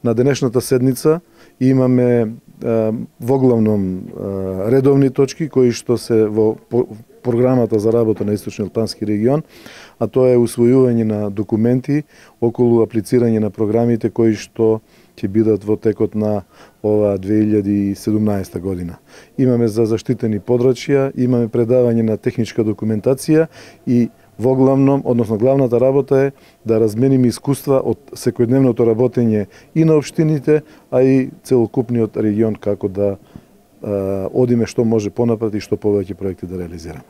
На денешната седница имаме воглавном редовни точки кои што се во програмата за работа на Источниот плански регион, а тоа е усвојување на документи околу аплицирање на програмите кои што ќе бидат во текот на ова 2017 година. Имаме за заштитени подрачја, имаме предавање на техничка документација и воглавном, односно главната работа е да размениме искуства од секојдневното работење и на општините, а и целокупниот регион како да одиме што може понапред и што повеќе проекти да реализираме.